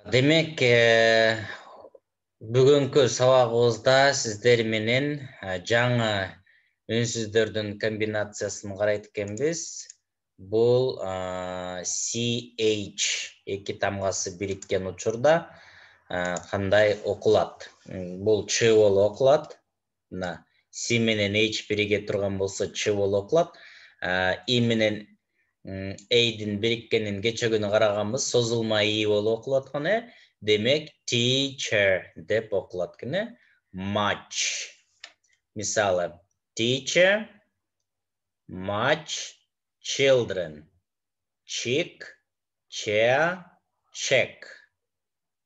Демек, бүгүнкү сабагыбызда сиздер менен жаңы үнсүздөрдүн комбинациясын карайт экенбиз. Бул CH эки тамгасы бириккен учурда кандай окулат? Бул Ч болуп окулат. Мына C менен H бириге турган болсо Ч болуп окулат. I менен A'дин бириккенин кече күнү караганбыз, созулма I болуп окулат экен. Демек, teacher деп окулат экен. Much. Мисалы, teacher, much, children. Chick, chair, check.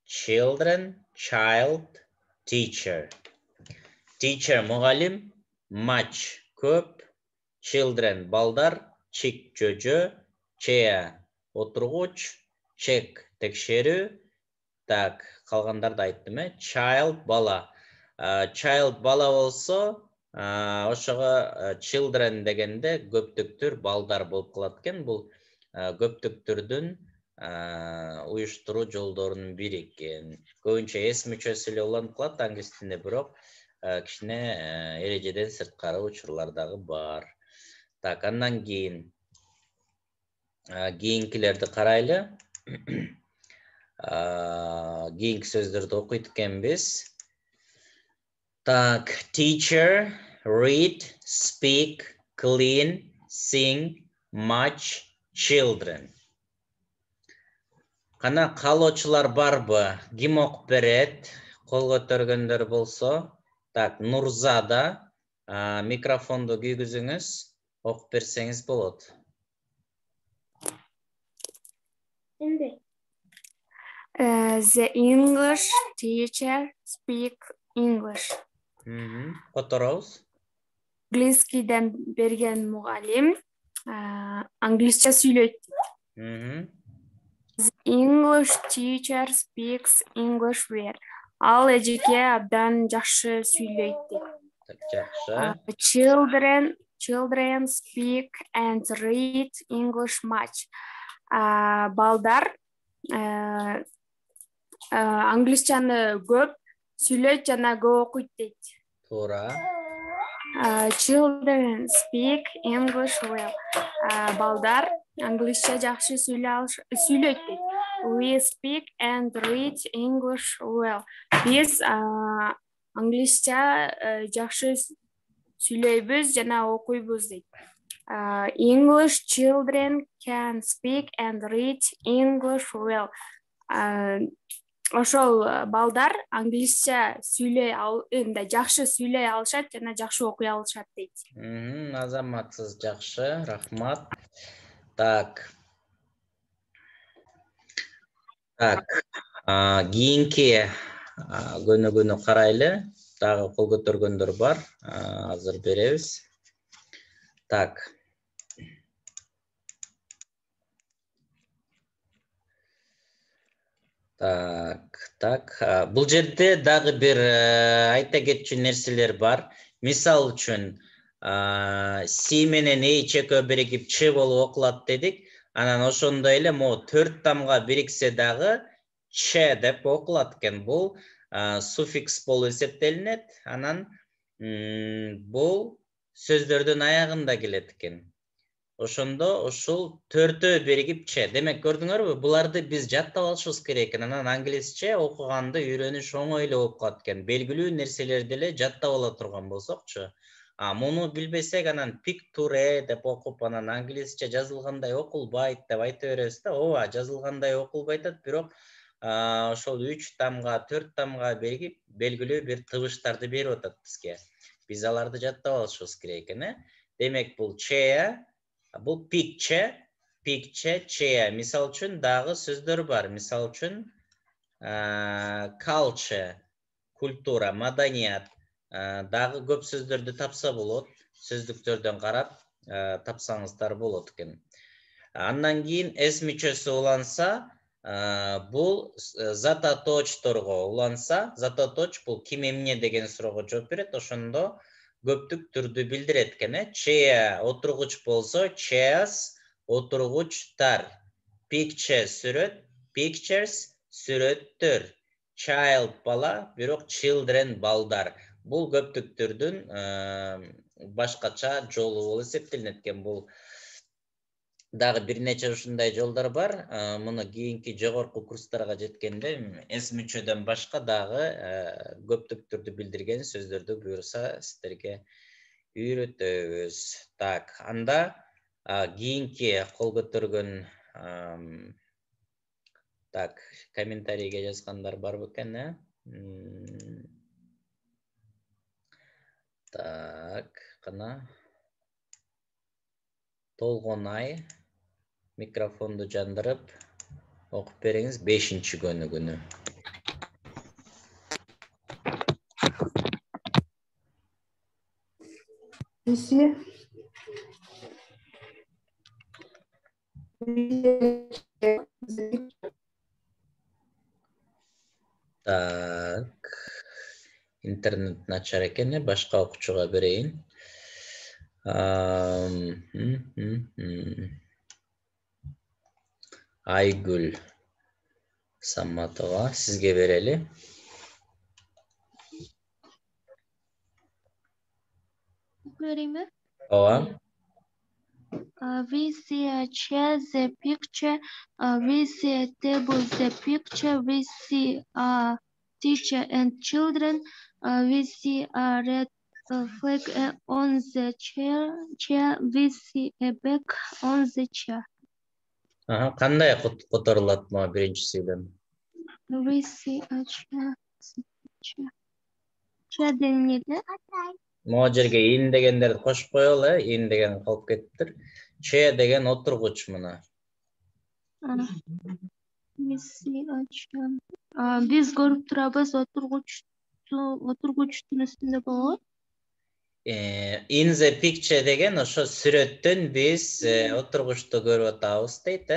Children, child, teacher. Teacher мугалим, much көп, children балдар, chick жөжө, chair отургуч, check текшерүү. Так, калгандарды айттым, child бала. Child бала болсо, ошого children дегенде көптүктүр балдар болуп калат экен. Бул көптүктүрдүн уюштуруу жолдорунун бири экен. Көбүнчө эс мүчөсү эле уланып калат англис тилинде, бирок кичине эрежеден сырткары учурлар дагы бар. Так, андан кийинкилерди карайлы. Кийинки сөздөрдү окуйт экенбиз. Так, teacher, read, speak, clean, sing, much, children. Кана каалоочулар барбы? Ким окуп берет? Кол көтөргөндөр болсо. Так, Нурзада, микрофонду күйгүзүңүз, окуп берсеңиз болот. The English teacher speak English. Которобуз. Англискийден берген мугалим англисча сүйлөйт. The English teacher speaks English well. Ал эжеке абдан жакшы сүйлөйт. Жакшы. Children speak and read English much. Балдар англисчаны көп сүйлөйт жана көп окуйт дейт. Туура. Children speak English well. Балдар англисча жакшы сүйлөйт дейт. We speak and read English well. Биз англисча жакшы сүйлөйбүз жана окуйбуз дейт. English children can speak and read English well. Ошол балдар англисча жакшы сүйлөй алышат жана жакшы окуй алышат дейт. Азаматсыз, жакшы, рахмат. Так. Кийинки көнүгүүнү карайлы. Дагы кол көтөргөндөр бар. Азыр беребиз. Так. Бул жерде дагы бир айта кетчү нерселер бар. Мисал үчүн, C менен H экөө биригип Ч болуп окулат дедик. Анан ошондой эле могу 4 тамга бириксе дагы Ч деп окулат экен. Бул суффикс болуп эсептелинет. Анан бул сөздөрдүн аягында келет экен. Ошондо ушул 4-өө биригип Ч. Демек, көрдүңөрбү? Буларды биз жаттап алышыбыз керек экен. Анан англисче окуганды үйрөнүш оңой эле болуп калат экен. Белгилүү нерселерди эле жаттап ала турган болсокчу. Муну билбесек, анан picture деп окуп, анан англисче жазылгандай окулбайт деп айта беребиз да. Ооба, жазылгандай окулбайт, бирок ошол 3 тамга, 4 тамга биригип белгилүү бир табыштарды берип атат бизге. Биз аларды жаттап алышыбыз керек экен. Демек, бул Ч, бул picture, chair. Мисал үчүн дагы сөздөр бар. Мисал үчүн culture, культура, маданият. Дагы көп сөздөрдү тапса болот. Сөздүктөрдөн карап тапсаңыздар болот экен. Андан кийин эс мүчөсү уланса, бул зататочторго уланса, зататоч бул ким эмне деген суроого жооп берет. Ошондо көптүк түрдү билдирет экен. Chair отургуч болсо, chairs отургучтар. Picture сүрөт, pictures сүрөттөр. Child бала, бирок children балдар. Бул көптүктөрдүн башкача жолу болуп эсептелинет экен. Бул дагы бир нече ушундай жолдор бар. Муну кийинки жогорку курстарга жеткенде эс мүчөдөн башка дагы көптүктөрдү билдирген сөздөрдү буюрса сиздерге үйрөтөбүз. Так, анда кийинки кол көтөргөн так, комментарийге жазгандар бар бекен, Так, кана. Толгонай микрофонду жандырып окуп бериңиз 5-көнүгүнү. Так. Интернет начар экен, башка окуучуга берейин. Айгүл Саматова, сизге берели. Берейинби? Ооба. We see a chair, the picture. We see a table, the picture. We see a teacher and children. We see a red flag on the chair. We see a bag on the chair. Кандай которулат мына биринчи сөйлөм? We see a chair. Chair денеде? Могу жерге ин дегендерди кошуп коелу, ин деген калып кетиптир. Че деген отургуч мына. We see a chair. Биз көрүп турабыз отургучтун үстүндө болот. In the picture деген ошо сүрөттөн биз отургучту көрүп атабыз дейт,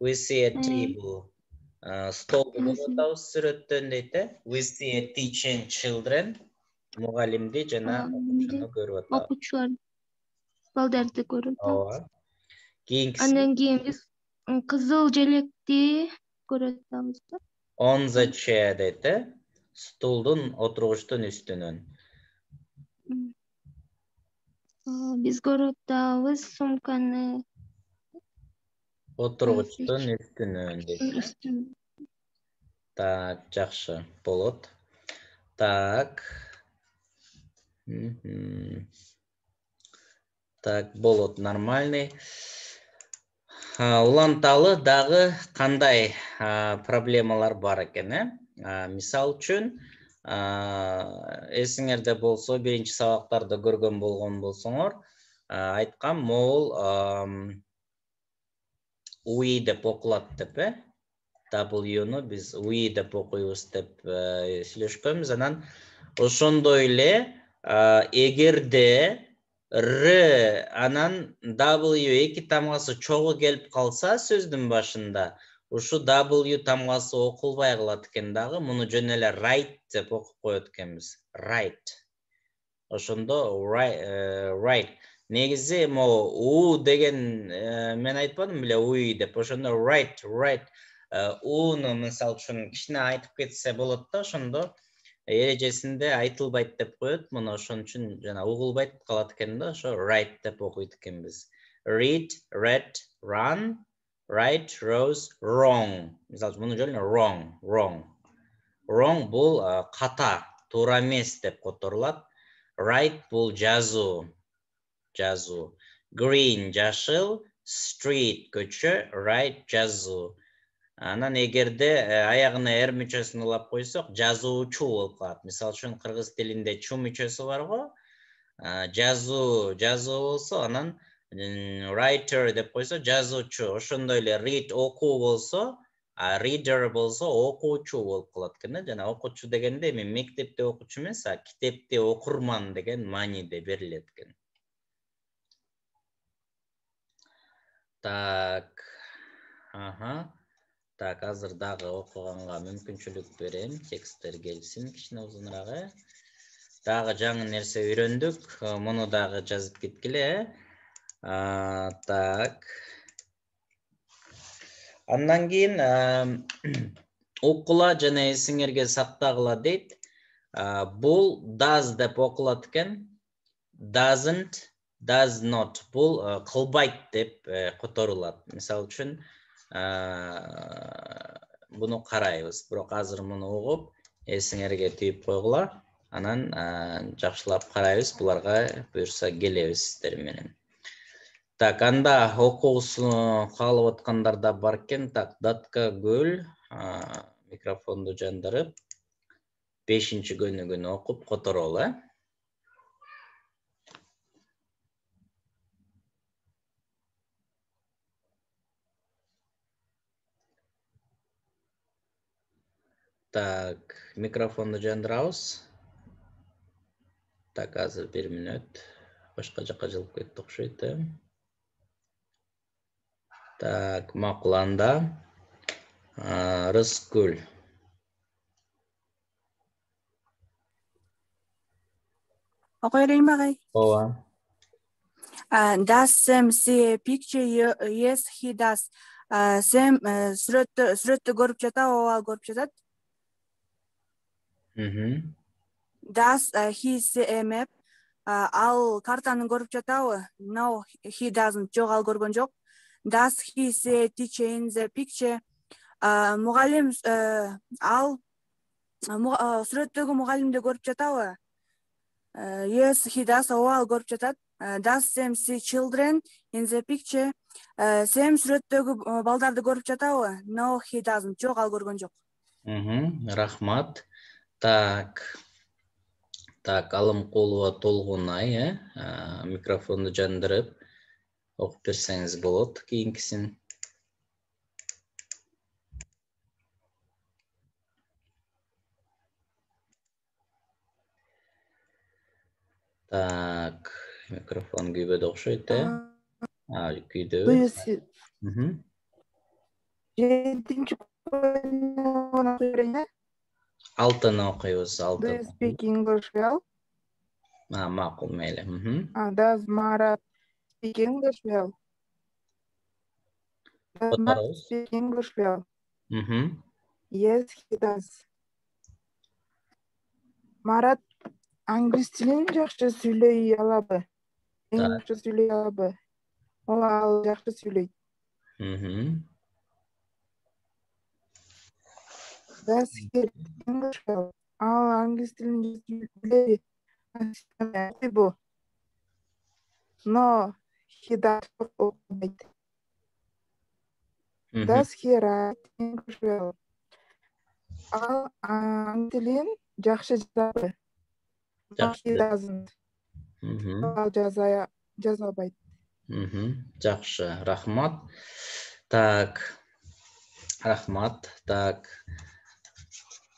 We see a table. Столду көрүп атабыз сүрөттөн дейт, We see a teacher and children. Мугалимди жана окуучуну көрүп атабыз. Окуучулар балдарды көрүп атабыз. Ооба. Кийинкиси. Андан кийин биз кызыл желекти көрүп атабыз. On the chair дейт, стулдун отургучтун үстүнөн. Биз көрүп атабыз сумканы Отургучтун үстүнөн дейт. Так, жакшы болот. Так. Так, болот, нормальный. Уланталы дагы кандай проблемалар бар экен, Мисал үчүн, эсиңерде болсо, биринчи сабактарда көргөн болгон болсоңор, айткам, могул we деп окулат деп, W-ну биз we деп окуйбуз деп сүйлөшкөнбүз. Анан ошондой эле эгерде R анан W эки тамгасы чогуу келип калса сөздүн башында, ушу W тамгасы окулбай калат экен дагы, муну жөн эле write деп окуп коет экенбиз. Write. Ошондо write. Негизи могу U деген мен айтпадым беле we деп, ошондо write. U-ну мисалы үчүн кичине айтып кетсе болот да, ошондо эрежесинде айтылбайт деп коет. Муну ошон үчүн жана угулбайт калат экен да, ошо write деп окуйт экенбиз. Read, read, run, write, rose, wrong. Мисалы муну жөн wrong. Wrong бул ката, туура эмес деп которулат. Write бул жазуу. Green жашыл, street көчө, write жазуу. Анан эгерде аягына эр мүчөсүн улап койсок, жазуучу болуп калат. Мисалы үчүн кыргыз тилинде чу мүчөсү бар го. Жазуу болсо, анан writer деп койсо, жазуучу. Ошондой эле read окуу болсо, reader болсо окуучу болуп калат экен. Жана окуучу дегенде эми мектепте окуучу эмес, китепти окурман деген мааниде берилет экен. Так. Так, азыр дагы окуганга мүмкүнчүлүк берем. Тексттер келсин кичине узунураак. Дагы жаңы нерсе үйрөндүк. Муну дагы жазып кеткиле. Так. Андан кийин окула жана эсиңерге сактагыла дейт. Бул does деп окулат экен. Doesn't, does not. Бул кылбайт деп которулат. Мисалы үчүн буну карайбыз. Бирок азыр муну угуп, эсиңерге түйүп койгула. Анан жакшылап карайбыз. Буларга буюрса келебиз сиздер менен. Так, анда окуусуну каалап аткандар да бар экен. Так, Датка Гүл микрофонду жандырып 5-чи көнүгүнү окуп которолу. Так, микрофонду жандырабыз. Так, азыр 1 мүнөт. Башка жакка жылып кетти окшойт. Так, макул, анда Рыскүл. Окуй берейинби агай? Ооба. Does Sam see a picture? Yes, he does. Sam сүрөттү көрүп жатабы? Ооба, көрүп жатат. Does he see a map? Ал картаны көрүп жатабы? No, he doesn't. Жок, ал көргөн жок. Does he see a teacher in the picture? Мугалим ал сүрөттөгү мугалимди көрүп жатабы? Yes, he does. Ооба, ал көрүп жатат. Does Sam see children in the picture? Sam сүрөттөгү балдарды көрүп жатабы? No, he doesn't. Жок, ал көргөн жок. Рахмат. Так, Алымкулова Толгунай, микрофонду жандырып окуп берсеңиз болот кийинкисин. Так, микрофон күйбөдө окшойт, күйдөбү? Жетинчи көнүгүнү окуй берейин. Алтыны окуйбуз, Do алтыны. you speak English well? Макул, мейли. Does Marat speak English well? Does Marat speak English well? Yes, he does. Марат англис тилин жакшы сүйлөй алабы? Жакшы сүйлөй алабы? Ооба, ал жакшы сүйлөйт. Does he speak English well? Ал англис тилин билеби? Бу. No, he doesn't. Does he write English well? Ал англис тилин жакшы жазабы? No, he doesn't. Ал жаза албайт. Жакшы, рахмат. Так, рахмат. Так,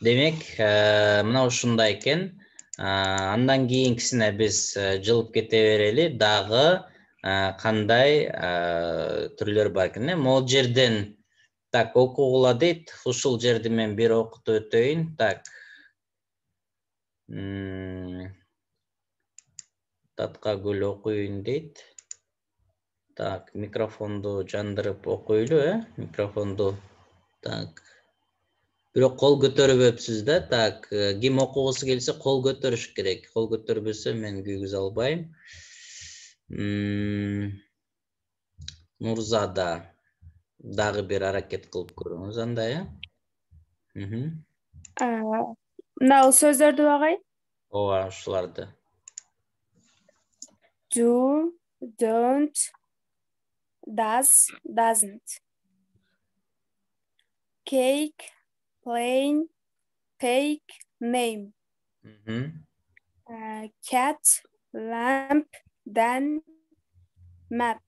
демек, мына ушундай экен. Андан кийинкисине биз жылып кете берели. Дагы кандай түрлөр бар экен? Могул жерден так окугула дейт. Ушул жерди мен бир окутуп өтөйүн. Так. Датка Гүл окуйын дейт. Так, микрофонду жандырып окуйлу, микрофонду. Так. Бирок кол көтөрүбөпсүз да. Так, ким окугусу келсе кол көтөрүш керек. Кол көтөрбөсө мен күйгүзө албайм. Нурзада дагы бир аракет кылып көрүңүз анда, Мына сөздөрдү агай. Ооба, ушуларды. Do, don't, does, doesn't. Cake, plane, take, name. Cat, lamp, then, map.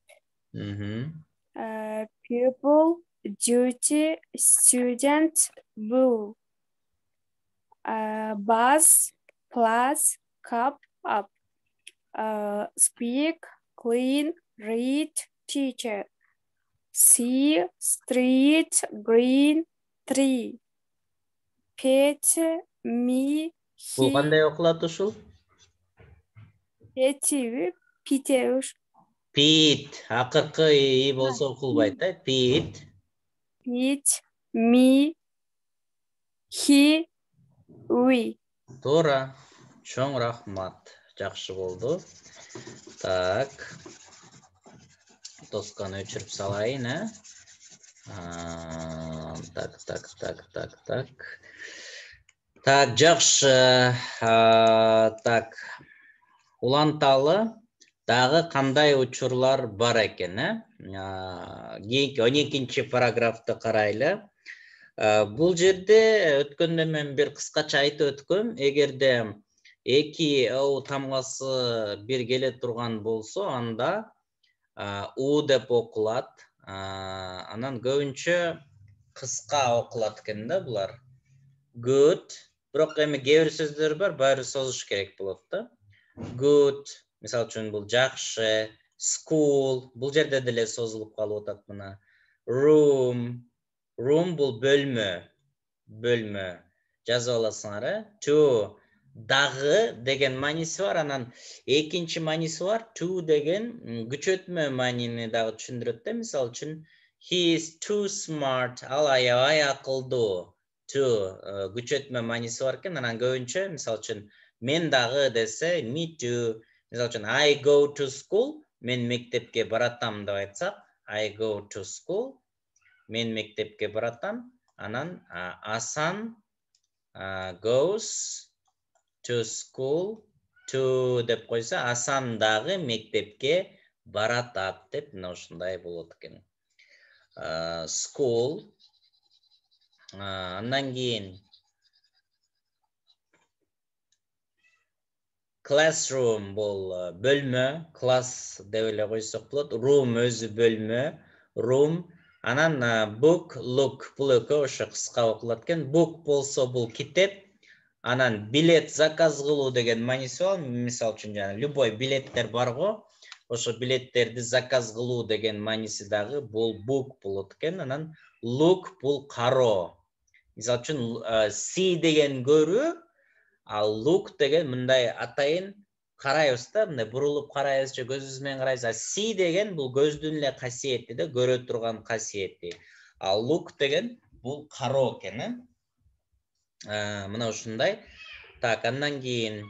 Pupil, duty, student, bull. Bus, plus, cup, up. Speak, clean, read, teacher. See, street, green, tree. Pet, me, Бул he. кандай окулат ушул? Петиби, питеуш. Пит, акыркы и болсо окулбайт, Пит. Pit, me, he, we. Туура. Чоң рахмат. Жакшы болду. Так. Тосканы өчүрүп салайын, Так. Так, жакшы. Так. Уланталы дагы кандай учурлар бар экен, Кийинки 12-чи параграфты карайлы. Бул жерде өткөндө мен бир кыскача айтып өткөм. Эгерде эки о тамгасы бир келе турган болсо, анда у деп окулат. Анан көбүнчө кыска окулат экен да булар. Good. Бирок эми кээ бир сөздөр бар, баары созуш керек болот да. Good. Мисал үчүн бул жакшы. School. Бул жерде деле созулуп калып атат мына. Room. Room бул бөлмө. Бөлмө. Жазып аласыңар, To. Дагы деген мааниси бар, анан экинчи мааниси бар. To деген күчөтмө маанини дагы түшүндүрөт да. Мисал үчүн he is too smart. Ал аябай акылдуу. To күчөтмө мааниси бар экен. Анан көбүнчө мисал үчүн мен дагы десе me too. Мисал үчүн I go to school. Мен мектепке баратам деп айтсак, I go to school. Мен мектепке баратам. Анан Асан goes to school. To деп койсо, Асан дагы мектепке баратат деп мына ушундай болот экен. School. Андан кийин classroom бул бөлмө, класс деп эле койсок болот. Room өзү бөлмө, room. Анан book, look бул экөө ошо кыска окулат экен. Book болсо бул китеп. Анан билет заказ кылуу деген мааниси бар. Мисал үчүн жана любой билеттер бар го. Ошо билеттерди заказ кылуу деген мааниси дагы бул book болот экен. Анан look бул кароо. Мисал үчүн see деген көрүү, ал look деген мындай атайын карайбыз да, мындай бурулуп карайбыз же көзүбүз менен карайбыз. See деген бул көздүн эле касиети да, көрө турган касиети. Ал look деген бул кароо экен, мына ушундай. Так, андан кийин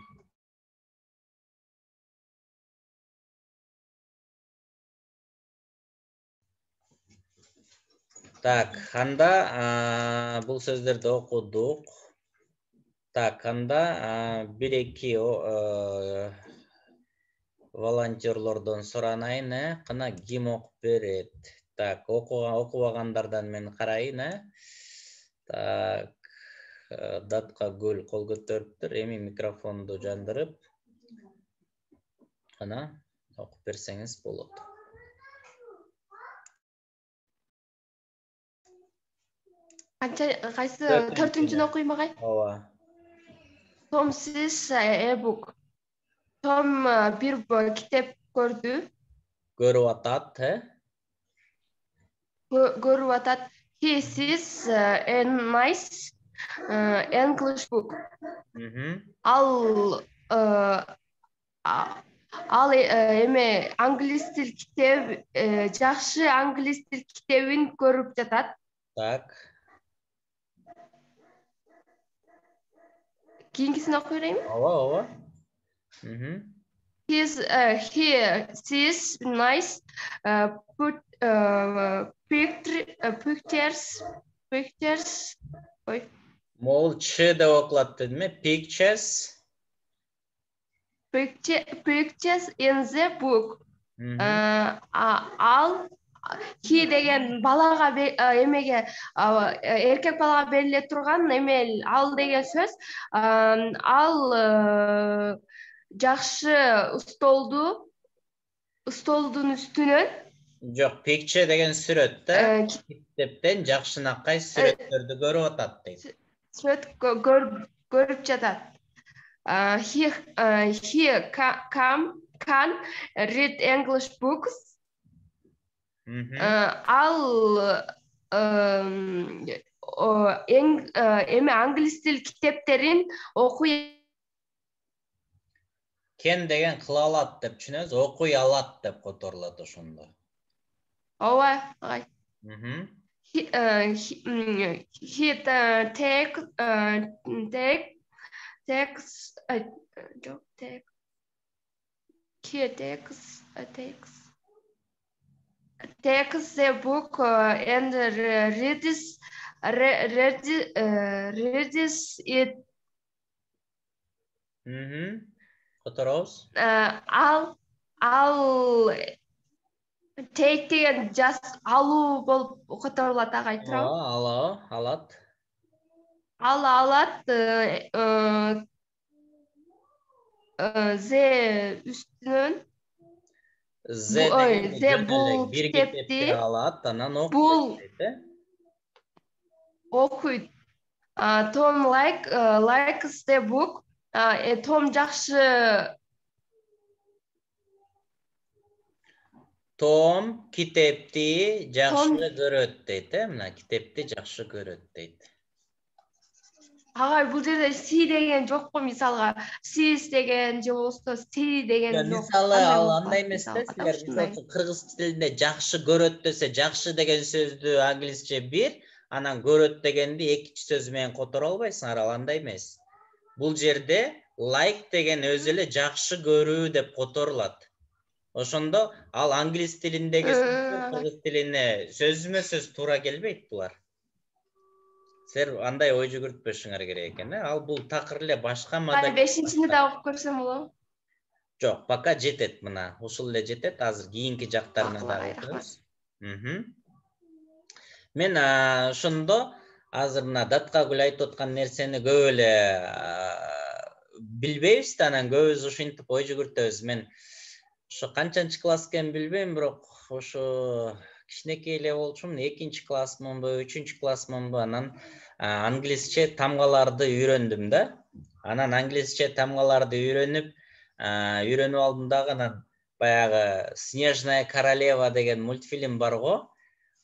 Так, анда бул сөздөрдү окудук. Так, анда бир-эки волонтерлордон суранайын, кына ким окуп берет? Так, окубагандардан мен карайын, Так, Датка Гүл кол көтөрүптүр. Эми микрофонду жандырып, кына окуп берсеңиз болот. Кайсы 4-үнчүнү окуйм агай? Ооба. Tom sees a book. Tom бир китеп көрдү. Көрүп атат, Көрүп атат. He sees a nice English book. Ал эме англис тил китеп, жакшы англис тил китебин көрүп жатат. Так. Кийинкисин окуй берейинби? Ооба. He sees nice pictures. Мол ч деп окулат дедим, Pictures. Pictures in the book. Ал he деген балага эмеге эркек балага бериле турган эме ал деген сөз. Ал жакшы столдун үстүнөн. Жок, picture деген сүрөт да. Китептен жакшынакай сүрөттөрдү көрүп атат дейт. Сүрөт көрүп жатат. He can read English books. Ал эме англис тил китептерин окуй. Кен деген кыла алат деп түшүнөбүз, окуй алат деп которулат ошондо. Ооба, агай. He takes the book and reads it. Которобуз. Ал take деген just алуу болуп которулат, ага айтырам. Алат. Ал алат зе үстүнөн. Бул китепти алат, анан окуйт. Tom likes the book. Том жакшы. Том китепти жакшы көрөт дейт, мына китепти жакшы көрөт дейт. Ага, бул жерде си деген жокпу, мисалга сиз деген же болбосо си деген жок. Мисалы ал андай эмес да, силер мисалы кыргыз тилинде жакшы көрөт десе, жакшы деген сөздү англисче бир, анан көрөт дегенди экинчи сөз менен которо албайсыңар, ал андай эмес. Бул жерде like деген өзү эле жакшы көрүү деп которулат. Ошондо ал англис тилиндеги сөз кыргыз тилине сөзмө-сөз туура келбейт булар. Силер андай ой жүгүртпөшүңөр керек экен. Ал бул такыр эле башка модель. 5-чини да окуп көрсөм болобу? Жок, пока жетет мына. Ушул эле жетет. Азыр кийинки жактарына да окуйбуз. Мен ошондо азыр мына Даткагүл айтып аткан нерсени көп эле билбейбиз да, анан көбүбүз ушинтип ой жүгүртөбүз. Мен ошо канчанчы класс экенин билбейм, бирок ошо кичинекей эле болчумун, 2-нчи классмынбы, 3-нчү классмынбы, анан англисче тамгаларды үйрөндүм да. Анан англисче тамгаларды үйрөнүп алдым дагы, анан баягы Снежная королева деген мультфильм бар го.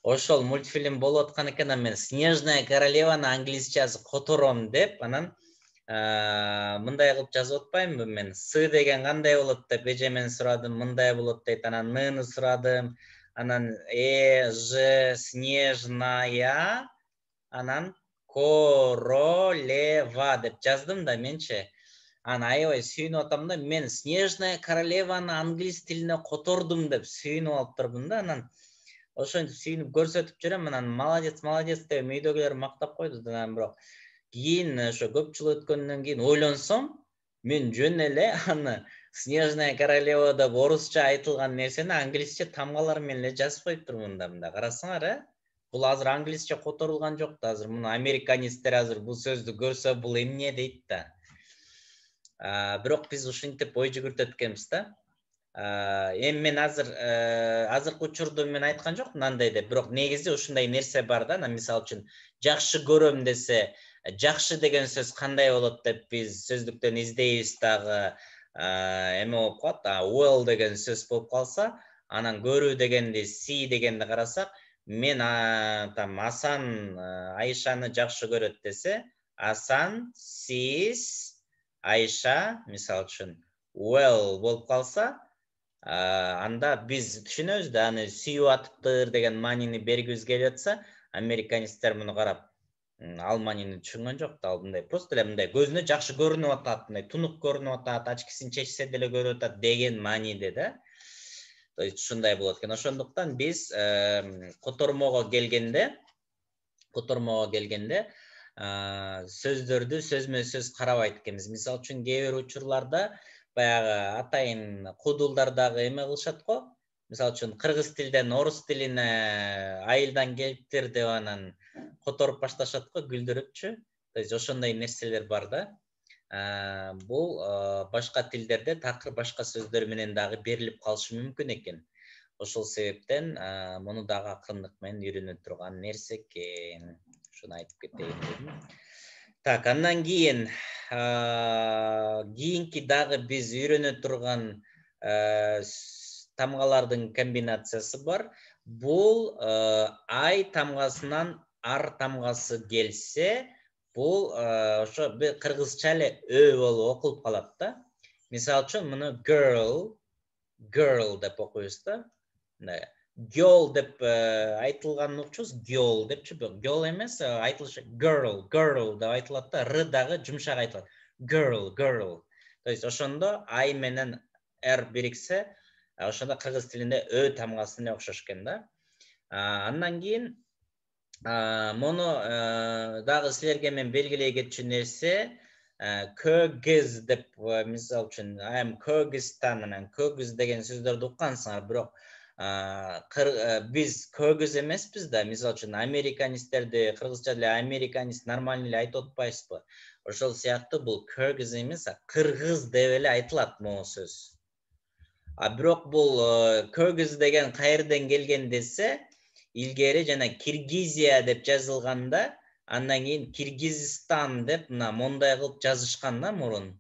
Ошол мультфильм болуп аткан экен, мен Снежная королеваны англисчеси котором деп, анан мындай кылып жазып атпаймынбы мен? С деген кандай болот деп эжемен сурадым, мындай болот дейт. Анан Ны сурадым. Анан Ж Снежная, анан королева деп жаздым да менчи. Анан аябай сүйүнүп атам да, мен Снежная королеваны англис тилине котордум деп сүйүнүп алып турдум да. Анан ошентип сүйүнүп көрсөтүп жүрөм, анан молодец деп үйдөгүлөр мактап койду. Анан бирок кийин ошо көп жыл өткөндөн кийин ойлонсом, мен жөн эле аны Снежная королева деп орусча айтылган нерсени англисче тамгалар менен эле жазып коюптурмун да, мында карасаңар, Бул азыр англисче которулган жок да, азыр муну американисттер азыр бул сөздү көрсө бул эмне дейт да. Бирок биз ушинтип ой жүгүртөт экенбиз да. Эми мен азыркы учурда мен айткан жокмун андай деп, бирок негизи ушундай нерсе бар да. Мисалы үчүн жакшы көрөм десе, жакшы деген сөз кандай болот деп биз сөздүктөн издейбиз дагы. Эме болуп калат, well деген сөз болуп калса, анан көрүү дегенди, see дегенди карасак, мен там Асан Айшаны жакшы көрөт десе, Асан sees Айша, мисалы үчүн well болуп калса, анда биз түшүнөбүз да, аны сүйүп атыптыр деген маанини бергибиз келип атса, американисттер муну карап ал маанини түшүнгөн жок да, ал мындай просто эле мындай көзүнө жакшы көрүнүп атат, мындай тунук көрүнүп атат, очкисин чечсе деле көрүп атат деген мааниде да. То есть ушундай болот экен. Ошондуктан биз котормого келгенде сөздөрдү сөзмө-сөз карабайт экенбиз. Мисалы үчүн кээ бир учурларда баягы атайын кудулдар дагы эме кылышат го. Мисалы үчүн кыргыз тилден орус тилине айылдан келиптир деп анан которуп башташат го, күлдүрүпчү. То есть ошондой нерселер бар да. Бул башка тилдерде такыр башка сөздөр менен дагы берилип калышы мүмкүн экен. Ошол себептен муну дагы акырындык менен үйрөнө турган нерсе экен. Ушуну айтып кетейин дедим. Так, андан кийин кийинки дагы биз үйрөнө турган тамгалардын комбинациясы бар. Бул ай тамгасынан ар тамгасы келсе, бул ошо кыргызча эле ө болуп окулуп калат да. Мисалы үчүн муну girl деп окуйбуз да. girl деп айтылганын укчубуз. Girl депчи, girl эмес, айтылышы girl деп айтылат да, р дагы жумшак айтылат. Girl. То есть ошондо I менен R бириксе, ошондо кыргыз тилинде Ö тамгасына окшош экен да. Андан кийин мону дагы силерге мен белгилей кетчү нерсе, Kyrgyz деп, мисалы үчүн, I am Kyrgyzstan менен Kyrgyz деген сөздөрдү уккансыңар, бирок биз Kyrgyz эмеспиз да, мисалы үчүн американистерди кыргызча деле американист нормально эле айтып атпайсызбы? Ошол сыяктуу бул Kyrgyz эмес, кыргыз деп эле айтылат могу сөз. Бирок бул Kyrgyz деген кайерден келген десе, илгери жана Киргизия деп жазылганда, андан кийин Киргизстан деп мына мондай кылып жазышкан да мурун.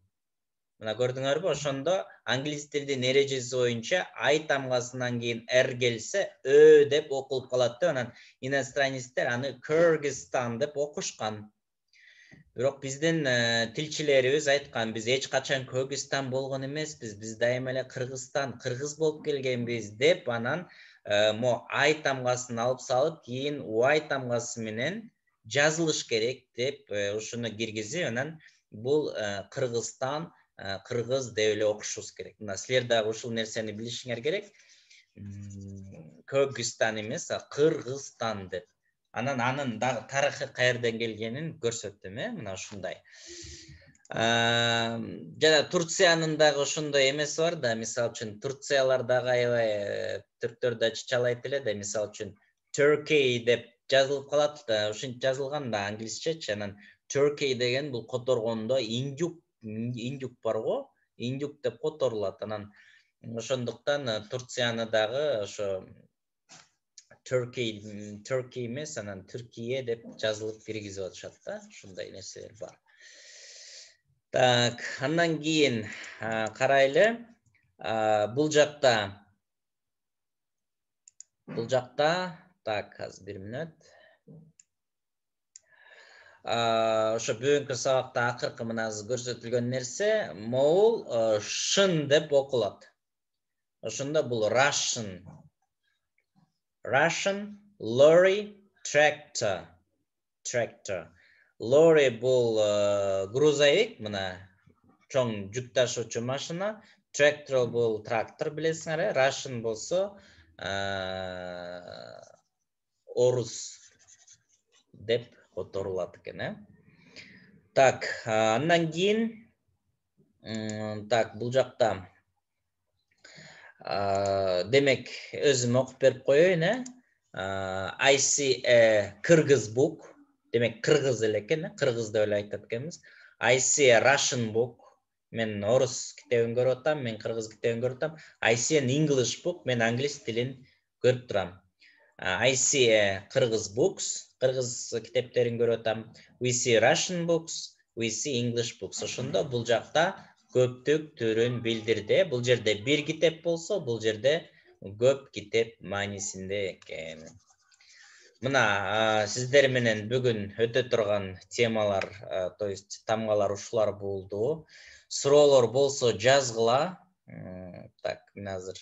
Мына көрдүңөрбү? Ошондо англис тилдин эрежеси боюнча I тамгасынан кийин R келсе, Ö деп окулуп калат да, анан иностранецтер аны Kyrgyzstan деп окушкан. Бирок биздин тилчилерибиз айткан, биз эч качан Kyrgyzstan болгон эмеспиз, биз дайыма эле Кыргызстан, кыргыз болуп келгенбиз деп, анан мо I тамгасын алып салып, кийин Y тамгасы менен жазылыш керек деп ушуну киргизип, анан бул Кыргызстан, кыргыз деп эле окушубуз керек. Мына силер дагы ушул нерсени билишиңер керек. Kyrgyzstan эмес, Кыргызстан деп. Анан анын дагы тарыхы каерден келгенин көрсөттүм, мына ушундай. Жана Турциянын дагы ошондой эмеси бар да, мисалы үчүн Турциялар дагы аябай түрктөр да чычалайт эле да, мисалы үчүн Turkey деп жазылып калат да, ушинтип жазылган да англисчечи. Анан Turkey деген бул которгондо индюк бар го, индюк деп которулат. Анан ошондуктан Турцияны дагы ошо Turkey эмес, анан Түркия деп жазылып киргизип атышат да, ушундай нерселер бар. Так, андан кийин карайлы. Бул жакта, так, азыр бир мүнөт. Ошо бүгүнкү сабакта акыркы мына көрсөтүлгөн нерсе, могул шын деп окулат. Ошондо бул Russian, lorry, tractor. Lorry бул грузовик, мына чоң жүк ташуучу машина. Tractor бул трактор, билесиңер, Russian болсо орус деп которулат экен, Так, андан кийин, так, бул жакта демек өзүм окуп берип коеюн, I see a Kyrgyz book. Демек кыргыз эле экен, кыргыз деп эле айтат экенбиз. I see a Russian book. Мен орус китебин көрүп атам, мен кыргыз китебин көрүп атам. I see an English book. Мен англис тилин көрүп турам. I see a Kyrgyz books. Кыргыз китептерин көрүп атам. We see Russian books. We see English books. Ошондо бул жакта көптүк түрүн билдирди. Бул жерде бир китеп болсо, бул жерде көп китеп маанисинде экен. Мына сиздер менен бүгүн өтө турган темалар, то есть тамгалар ушулар болду. Суроолор болсо жазгыла. Так, мен азыр